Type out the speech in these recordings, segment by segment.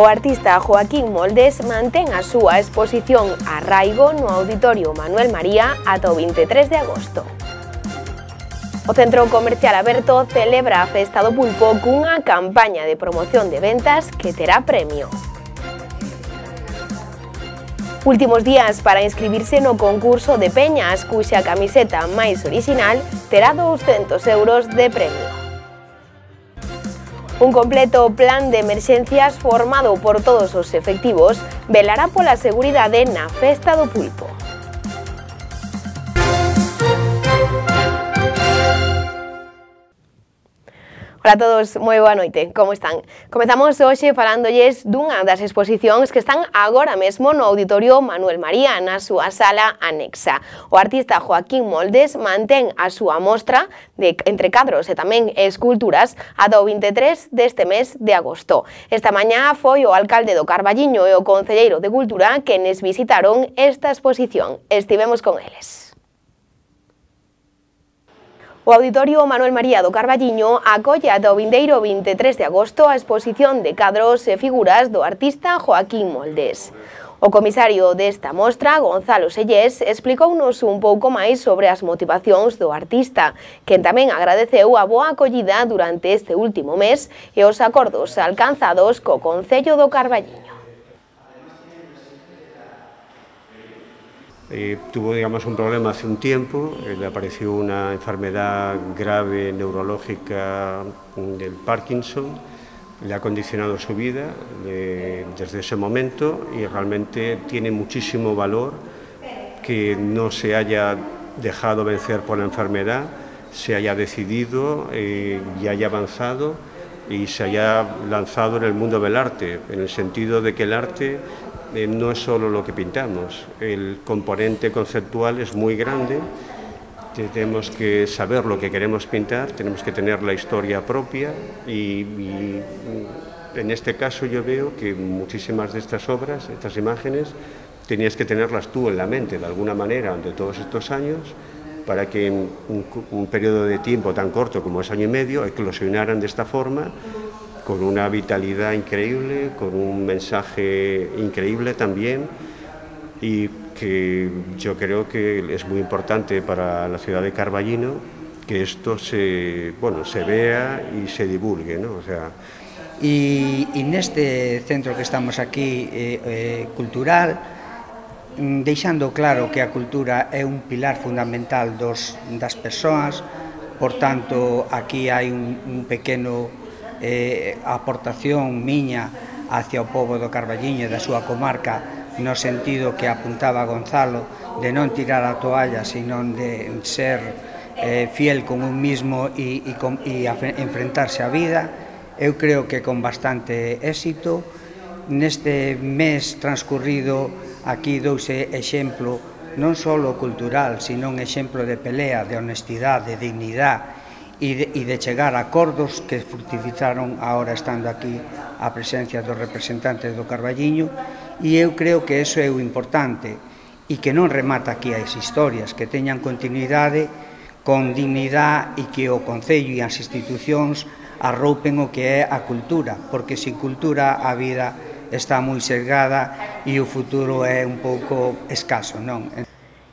O artista Joaquín Moldes mantén a súa exposición Arraigo no Auditorio Manuel María ata o 23 de agosto. O Centro Comercial Aberto celebra a Festa do Pulpo cunha campaña de promoción de ventas que terá premio. Últimos días para inscribirse no concurso de peñas, cuxa camiseta máis orixinal terá 200 euros de premio. Un completo plan de emerxencias formado por todos os efectivos velará pola seguridade na Festa do Pulpo. Ola a todos, moi boa noite, como están? Comezamos hoxe falándolles dunha das exposicións que están agora mesmo no Auditorio Manuel María, na súa sala anexa. O artista Joaquín Moldes mantén a súa mostra de entre cadros e tamén esculturas ata o 23 deste mes de agosto. Esta mañá foi o alcalde do Carballiño e o concelleiro de Cultura quenes visitaron esta exposición. Estivemos con eles. O Auditorio Manuel María do Carballiño acolle ata o vindeiro 23 de agosto a exposición de cadros e figuras do artista Joaquín Moldes. O comisario desta mostra, Gonzalo Sellés, explicounos un pouco máis sobre as motivacións do artista, quen tamén agradeceu a boa acollida durante este último mes e os acordos alcanzados co Concello do Carballiño. Tuvo, digamos, un problema hace un tiempo, le apareció una enfermedad grave neurológica del Parkinson, le ha condicionado su vida desde ese momento y realmente tiene muchísimo valor que no se haya dejado vencer por la enfermedad, se haya decidido y haya avanzado y se haya lanzado en el mundo del arte, en el sentido de que el arte no es solo lo que pintamos, el componente conceptual es muy grande, tenemos que saber lo que queremos pintar, tenemos que tener la historia propia y en este caso yo veo que muchísimas de estas obras, estas imágenes, tenías que tenerlas tú en la mente de alguna manera durante todos estos años para que en un periodo de tiempo tan corto como es año y medio eclosionaran de esta forma, con una vitalidad increíble, con un mensaje increíble también y que yo creo que es muy importante para la ciudad de Carballiño que esto se vea y se divulgue, ¿no? O sea, y neste centro que estamos aquí cultural, deixando claro que a cultura é un pilar fundamental das persoas, por tanto aquí hai un pequeno aportación miña hacia o pobo do Carballiño e da súa comarca no sentido que apuntaba Gonzalo de non tirar a toalla, sino de ser fiel con un mismo e enfrentarse á vida. Eu creo que con bastante éxito neste mes transcurrido aquí douse exemplo non só cultural, sino un exemplo de pelea, de honestidade, de dignidade e de chegar a acordos que fructificaron agora estando aquí a presencia dos representantes do Carballiño e eu creo que eso é o importante e que non remata aquí as historias, que teñan continuidade con dignidade e que o Concello e as institucións arroupen o que é a cultura, porque sin cultura a vida está moi sesgada e o futuro é un pouco escaso, non?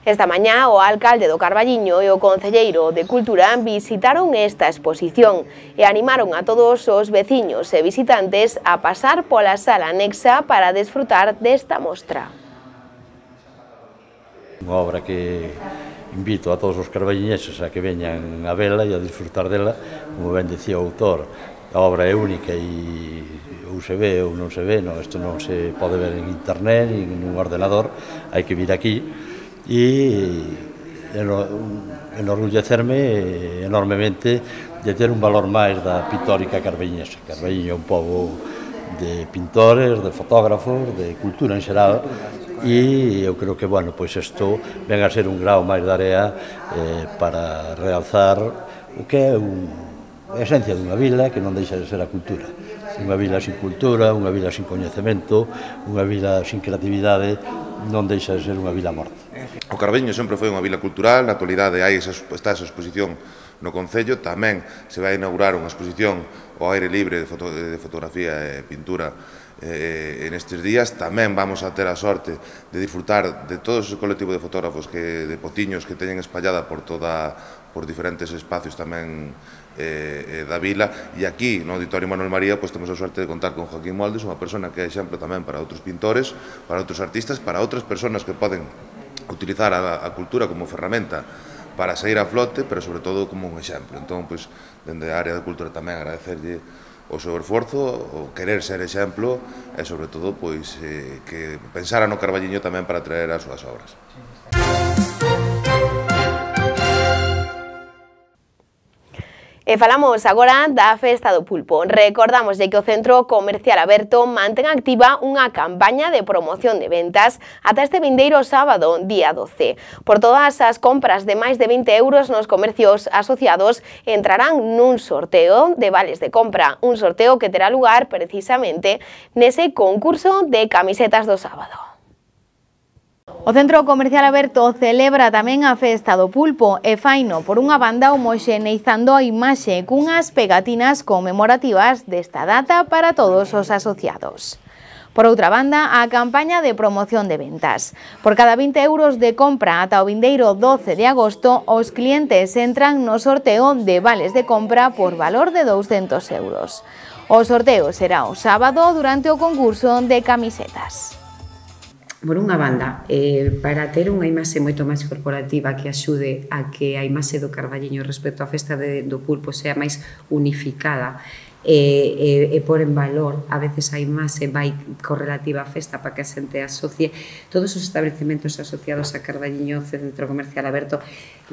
Esta mañá o alcalde do Carballiño e o concelleiro de Cultura visitaron esta exposición e animaron a todos os veciños e visitantes a pasar pola sala anexa para desfrutar desta mostra. Unha obra que invito a todos os carballiñeses a que veñan a vela e a disfrutar dela, como ben decía o autor, a obra é única e ou se ve ou non se ve, isto non se pode ver en internet ni en un ordenador, hai que vir aquí e enorgullecerme enormemente de ter un valor máis da pictórica carballiñesa. Carballiño é un pobo de pintores, de fotógrafos, de cultura en xeral e eu creo que, bueno, pois isto ven a ser un grau máis de area para realzar o que é a esencia dunha vila que non deixa de ser a cultura. Unha vila sin cultura, unha vila sin coñecemento, unha vila sin creatividade, non deixa de ser unha vila morta. O Carballiño sempre foi unha vila cultural, na actualidade está esa exposición no Concello, tamén se vai inaugurar unha exposición ao aire libre de fotografía e pintura en estes días. Tamén vamos a ter a sorte de disfrutar de todo ese colectivo de fotógrafos, de potiños que teñen espallada por diferentes espacios tamén da vila, e aquí no Auditorio Manuel María temos a sorte de contar con Joaquín Moldes, unha persona que é exemplo tamén para outros pintores, para outros artistas, para outras persoas que poden utilizar a cultura como ferramenta para sair a flote, pero sobre todo como un exemplo. Entón, dende a área da cultura tamén agradecerlle o seu esforzo, o querer ser exemplo e sobre todo que pensara no Carballiño tamén para traer as súas obras. E falamos agora da Festa do Pulpo. Recordamos que o Centro Comercial Aberto mantén activa unha campaña de promoción de ventas ata este vindeiro sábado, día 12. Por todas as compras de máis de 20 euros nos comercios asociados entrarán nun sorteo de vales de compra, un sorteo que terá lugar precisamente nese concurso de camisetas do sábado. O Centro Comercial Aberto celebra tamén a Festa do Pulpo e faino por unha banda homoxeneizando a imaxe cunhas pegatinas conmemorativas desta data para todos os asociados. Por outra banda, a campaña de promoción de ventas. Por cada 20 euros de compra ata o vindeiro 12 de agosto, os clientes entran no sorteo de vales de compra por valor de 200 euros. O sorteo será o sábado durante o concurso de camisetas. Por unha banda, para ter unha imaxe moito máis corporativa que axude a que a imaxe do Carballiño respecto á Festa do Pulpo sea máis unificada e por en valor a veces a imaxe vai correlativa á festa para que a xente asocie. Todos os establecementos asociados a Carballiño Centro Comercial Aberto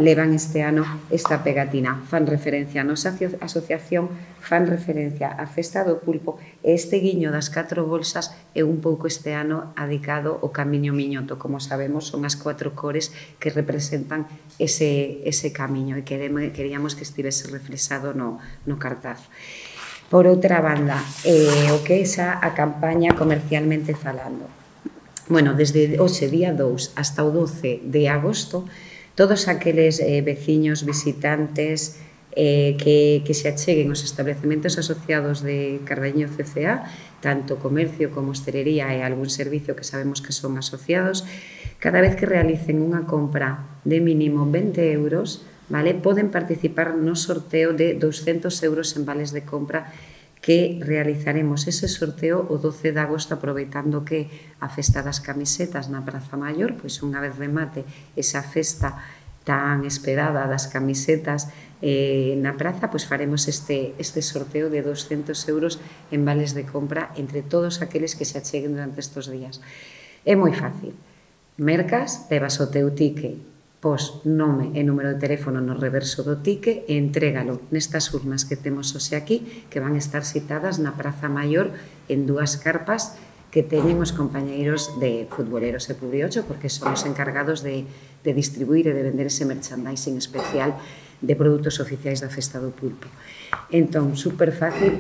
levan este ano esta pegatina, fan referencia a nosa asociación, fan referencia á Festa do Pulpo e este guiño das 4 bolsas é un pouco este ano adicado ao Camiño Miñoto. Como sabemos, son as 4 cores que representan ese camiño e queríamos que estivese reflexado no cartaz. Por outra banda, o que é xa a campaña comercialmente falando. Bueno, desde hoxe, día 2, hasta o 12 de agosto, todos aqueles veciños, visitantes que se acheguen aos establecementos asociados de Carballiño CCA, tanto comercio como hostelería e algún servicio que sabemos que son asociados, cada vez que realicen unha compra de mínimo 20 euros, vale, poden participar no sorteo de 200 euros en vales de compra que realizaremos ese sorteo o 12 de agosto, aproveitando que a Festa das Camisetas na Praza Maior, pois unha vez remate esa festa tan esperada das camisetas na praza, pois faremos este sorteo de 200 euros en vales de compra entre todos aqueles que se acheguen durante estes días. É moi fácil. Mercas, levas o teu ticket, pos nome e número de teléfono no reverso do ticket e entrégalo nestas urnas que temos hoxe aquí, que van estar citadas na Praza Maior en 2 carpas que teñen os compañeiros de Futboleros e Publiocho, porque son os encargados de distribuir e de vender ese merchandising especial de produtos oficiais da Festa do Pulpo. Entón, super fácil,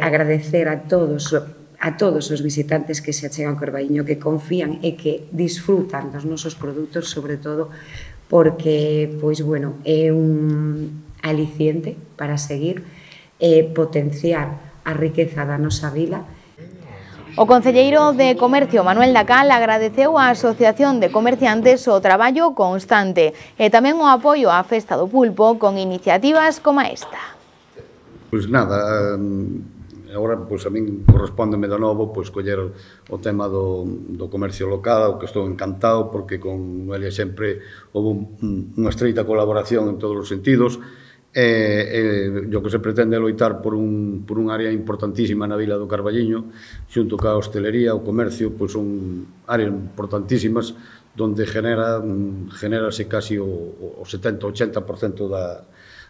agradecer a todos os visitantes que se achegan ao Carballiño, que confían e que disfrutan dos nosos produtos, sobre todo porque, pois, bueno, é un aliciente para seguir potenciar a riqueza da nosa vila. O concelleiro de Comercio, Manuel Dacal, agradeceu á Asociación de Comerciantes o traballo constante e tamén o apoio á Festa do Pulpo con iniciativas como esta. Pois nada, agora a min correspóndeme de novo coller o tema do comercio local, o que estou encantado, porque con Noelia sempre houve unha estreita colaboración en todos os sentidos. O que se pretende é loitar por un área importantísima na vila do Carballiño, xunto ca hostelería, o comercio, son áreas importantísimas onde generase casi o 70-80%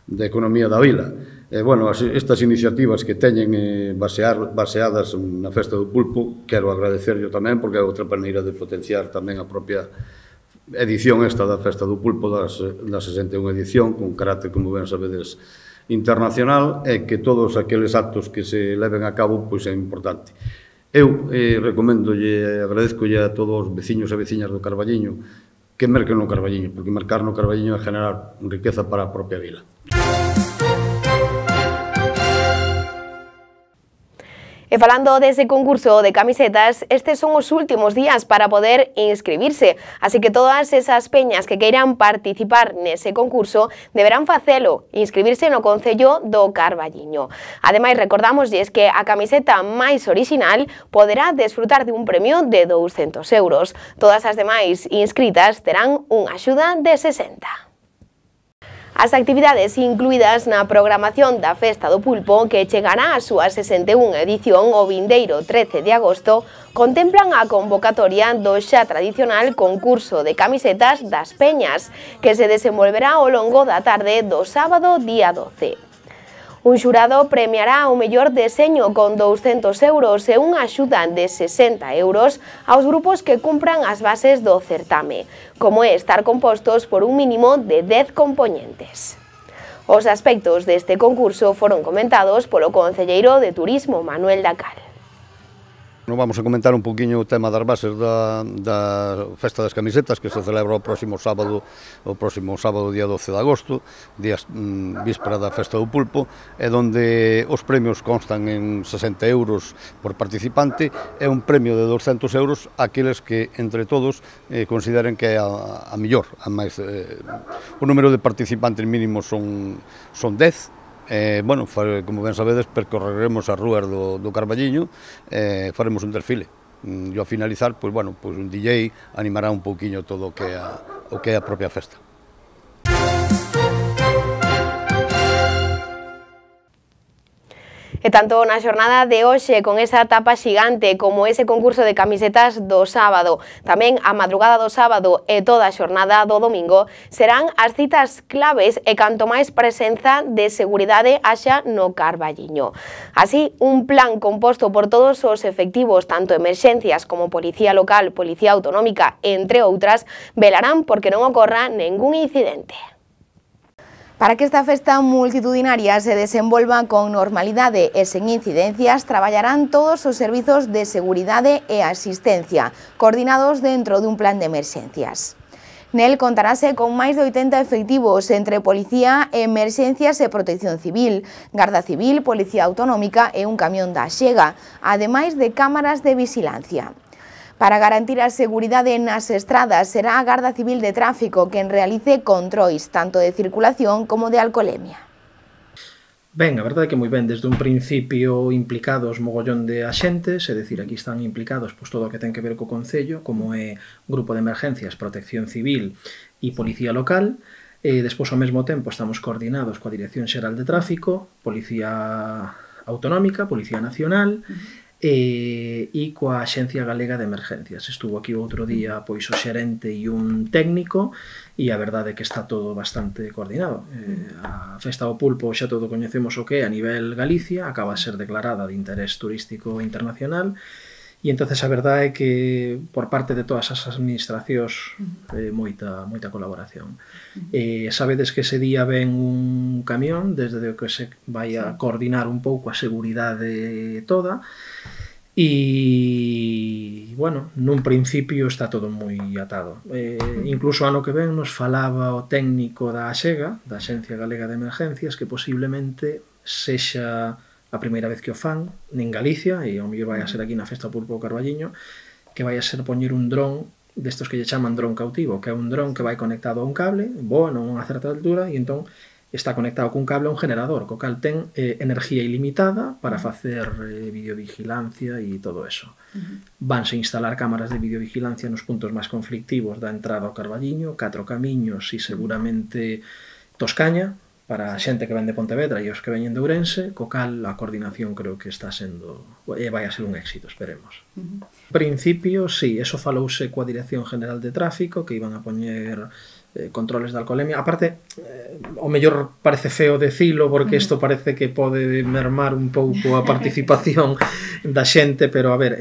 da economía da vila. Estas iniciativas que teñen baseadas na Festa do Pulpo, quero agradecerlo tamén, porque é outra maneira de potenciar tamén a propia edición esta da Festa do Pulpo, da 61 edición, con carácter, como ben sabedes, internacional, e que todos aqueles actos que se leven a cabo é importante. Eu recomendolle e agradezcolle a todos os veciños e veciñas do Carballiño que merquen no Carballiño, porque mercar no Carballiño é generar riqueza para a propia vila. E falando dese concurso de camisetas, estes son os últimos días para poder inscribirse, así que todas esas peñas que queiran participar nese concurso deberán facelo, inscribirse no Concello do Carballiño. Ademais, recordamosles que a camiseta máis orixinal poderá desfrutar de un premio de 200 euros. Todas as demais inscritas terán unha axuda de 60. As actividades incluídas na programación da Festa do Pulpo, que chegará á súa 61 edición o vindeiro 13 de agosto, contemplan a convocatoria do xa tradicional concurso de camisetas das Peñas, que se desenvolverá ao longo da tarde do sábado día 12. Un xurado premiará o mellor deseño con 200 euros e unha axuda de 60 euros aos grupos que cumpran as bases do certame, como é estar compostos por un mínimo de 10 compoñentes. Os aspectos deste concurso foron comentados polo concelleiro de Turismo, Manuel Dacal. Non vamos a comentar un poquinho o tema das bases da Festa das Camisetas, que se celebra o próximo sábado día 12 de agosto, víspera da Festa do Pulpo, e donde os premios constan en 60 euros por participante e un premio de 200 euros aqueles que, entre todos, consideren que é a mellor. O número de participantes mínimos son 10, bueno, como ben sabedes, percorreremos as rúas do Carballiño e faremos un desfile. E ao finalizar, pois, bueno, pois un DJ animará un pouquiño todo o que é a propia festa. E tanto na xornada de hoxe, con esa tapa xigante, como ese concurso de camisetas do sábado, tamén a madrugada do sábado e toda a xornada do domingo, serán as citas claves e canto máis presenza de seguridade haxa no Carballiño. Así, un plan composto por todos os efectivos, tanto emerxencias como Policía Local, Policía Autonómica, entre outras, velarán porque non ocorra ningún incidente. Para que esta festa multitudinaria se desenvolva con normalidade e sen incidencias, traballarán todos os servizos de seguridade e asistencia, coordinados dentro dun plan de emerxencias. Nel contarase con máis de 80 efectivos entre Policía, Emerxencias e Protección Civil, Garda Civil, Policía Autonómica e un camión da Axega, ademais de cámaras de vigilancia. Para garantir a seguridade nas estradas, será a Garda Civil de Tráfico quen realice controis tanto de circulación como de alcolemia. Ben, a verdade é que moi ben, desde un principio implicados mogollón de axentes, é dicir, aquí están implicados pois, todo o que ten que ver co Concello, como é Grupo de Emergencias, Protección Civil e Policía Local, e despois ao mesmo tempo estamos coordinados coa Dirección Xeral de Tráfico, Policía Autonómica, Policía Nacional, e coa Axencia Galega de Emergencias. Estuvo aquí outro día pois o xerente e un técnico e a verdade é que está todo bastante coordinado. A Festa do Pulpo xa todo coñecemos o que é a nivel Galicia, acaba de ser declarada de interés turístico internacional e entonces a verdade é que por parte de todas as administracións moita colaboración. Sabedes que ese día ven un camión desde o que se vai a coordinar un pouco a seguridade toda e, bueno, nun principio está todo moi atado. Incluso ano que ven nos falaba o técnico da Axega, da Axencia Galega de Emergencias, que posiblemente sexa a primeira vez que o fan en Galicia, e ao mellor vai a ser aquí na Festa Pulpo Carballiño, que vai a ser poñer un dron destos que lle chaman dron cautivo, que é un dron que vai conectado a un cable, voa a unha certa altura, e entón está conectado cun cable a un generador, co cal ten enerxía ilimitada para facer videovigilancia e todo eso. Vanse instalar cámaras de videovigilancia nos puntos máis conflictivos da entrada ao Carballiño, 4 camiños e seguramente Toscaña, para a xente que ven de Pontevedra e os que veñen de Ourense, co cal a coordinación creo que está sendo e vai a ser un éxito, esperemos. En principio, sí, eso falouse coa Dirección General de Tráfico, que iban a poñer controles de alcolemia. Aparte, o mellor parece feo decilo, porque isto parece que pode mermar un pouco a participación da xente, pero a ver,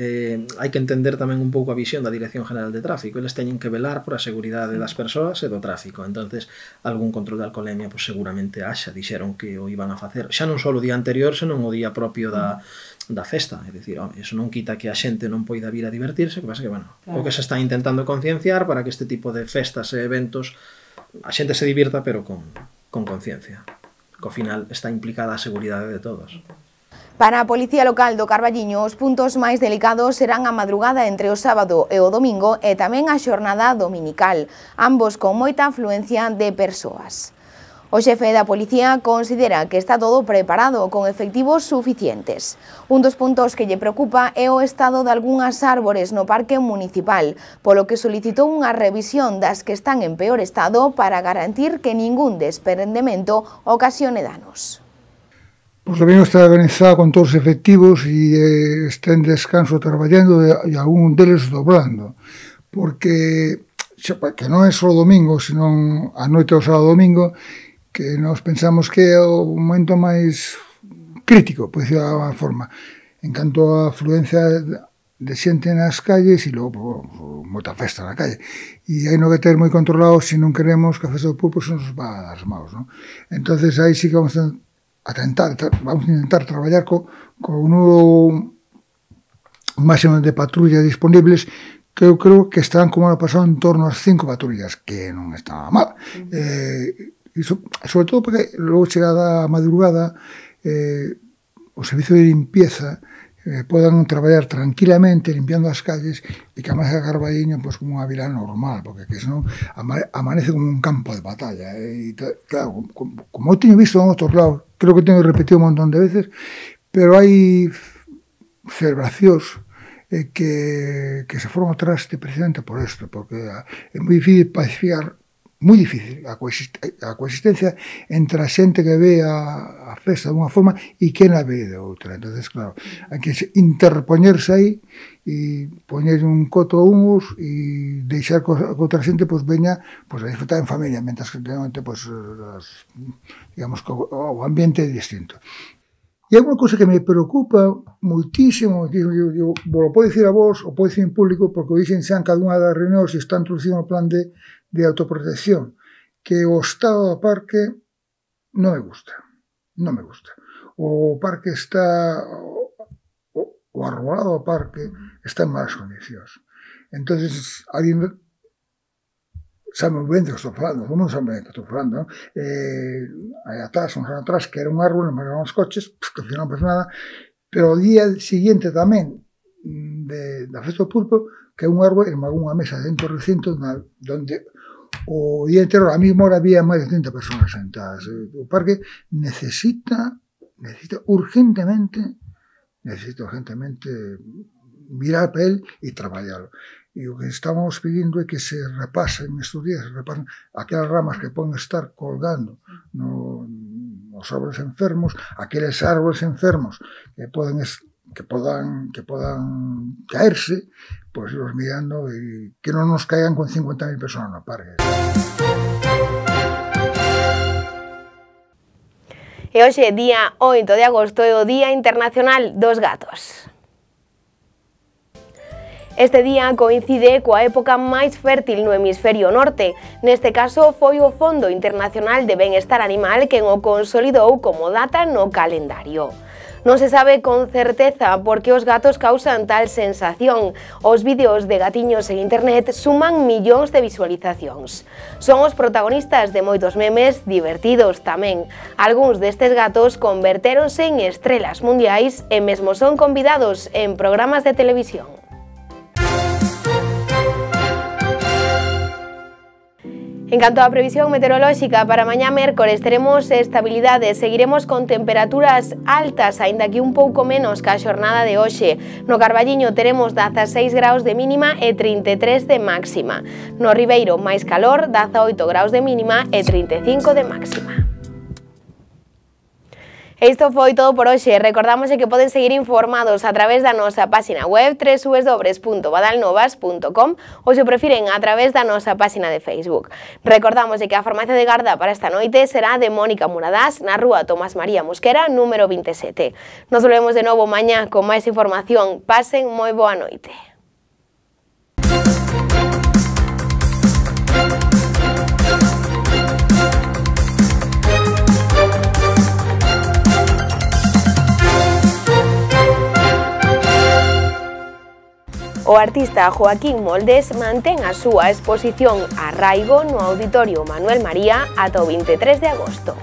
hai que entender tamén un pouco a visión da Dirección General de Tráfico. Eles teñen que velar por a seguridade das persoas e do tráfico. Entonces, algún control de alcolemia, pues, seguramente haxa, dixeron que o iban a facer. Xa non só o día anterior, senón o día propio da festa, é dicir, eso non quita que a xente non poida vir a divertirse, que pasa que, bueno, claro, o que se está intentando concienciar para que este tipo de festas e eventos a xente se divirta, pero con conciencia, que ao final está implicada a seguridade de todos. Para a Policía Local do Carballiño, os puntos máis delicados serán a madrugada entre o sábado e o domingo e tamén a xornada dominical, ambos con moita afluencia de persoas. O xefe da Policía considera que está todo preparado con efectivos suficientes. Un dos puntos que lle preocupa é o estado de algunhas árbores no parque municipal, polo que solicitou unha revisión das que están en peor estado para garantir que ningún desprendemento ocasione danos. Pois o Carballiño está organizado con todos os efectivos e está en descanso traballando e algún deles doblando, porque que non é só o domingo, senón a noite do sábado domingo, que nos pensamos que é o momento máis crítico, por decirlo de alguma forma, en canto a afluencia de xente nas calles e logo moita festa na calle. E hai no que ter moi controlado se non queremos que a festa do pulpo se nos va das maus, non? Entonces aí sí que vamos a intentar traballar co un máximo de patrullas disponibles, que eu creo que estarán como ano pasado en torno ás 5 patrullas, que non está mal. Sobre todo porque logo chegada a madrugada o servicio de limpieza podan traballar tranquilamente limpiando as calles e que además a Carballiño como unha vila normal, porque que senón amanece como un campo de batalla. E claro, como eu teño visto en outros lados, creo que teño repetido un montón de veces, pero hai celebracións que se foron atrás precisamente por isto, porque é moi difícil pacificar, moi difícil a coexistencia entre a xente que ve a festa de unha forma e que na ve de outra. Entonces, claro, hai que interpoñerse aí e poñer un coto a uns e deixar que outra xente veña a disfrutar en familia, mentras que digamos que o ambiente é distinto. E hai unha cousa que me preocupa moitísimo, vos lo podo dicir a vos, o podo dicir en público, porque o dixen xa en cada unha das reunións e está introducido no plan de autoprotección, que o estado do parque non me gusta. O parque está, o arbolado do parque está en malas condicións. Entonces, alguén sabe moi ben do que estou falando, non sabe ben do que estou falando, non? Aí atrás, uns anos atrás, que era un árbol, non me levaban os coches, que non pasa nada, pero o día siguiente tamén da festa do pulpo, que é un árbol en unha mesa dentro do recinto onde o día entero, a mesma hora, había máis de 30 personas sentadas. O parque necesita urgentemente mirar para él e traballarlo. E o que estamos pedindo é que se repasen estes días, aquelas ramas que poden estar colgando nos árboles enfermos, aqueles árboles enfermos que podan caerse, pois irlos mirando e que non nos caigan con 50.000 personas no parque. E hoxe, día 8 de agosto, é o Día Internacional dos Gatos. Este día coincide coa época máis fértil no hemisferio norte. Neste caso, foi o Fondo Internacional de Benestar Animal quen o consolidou como data no calendario. Non se sabe con certeza por que os gatos causan tal sensación. Os vídeos de gatiños en internet suman millóns de visualizacións. Son os protagonistas de moitos memes divertidos tamén. Algúns destes gatos convertéronse en estrelas mundiais e mesmo son convidados en programas de televisión. En canto á previsión meteorolóxica, para mañá mércores teremos estabilidade, seguiremos con temperaturas altas, aínda que un pouco menos que a xornada de hoxe. No Carballiño teremos 16 graus de mínima e 33 de máxima. No Ribeiro, máis calor, 18 graus de mínima e 35 de máxima. Isto foi todo por hoxe. Recordamos que poden seguir informados a través da nosa página web www.badalnovas.com ou, se prefiren, a través da nosa página de Facebook. Recordamos que a farmacia de garda para esta noite será de Mónica Muradás na rúa Tomás María Mosquera, número 27. Nos volvemos de novo mañá con máis información. Pasen moi boa noite. O artista Joaquín Moldes mantén a súa exposición Arraigo no Auditorio Manuel María ata o 23 de agosto.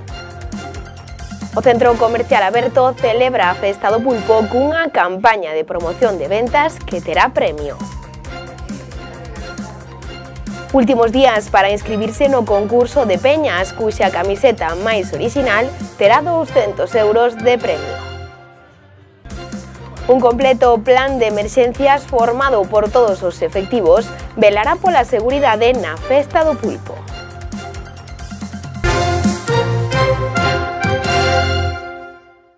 O Centro Comercial Aberto celebra a Festa do Pulpo cunha campaña de promoción de ventas que terá premio. Últimos días para inscribirse no concurso de peñas, cuxa camiseta máis orixinal terá 200 euros de premio. Un completo plan de emerxencias formado por todos os efectivos velará pola seguridade na Festa do Pulpo.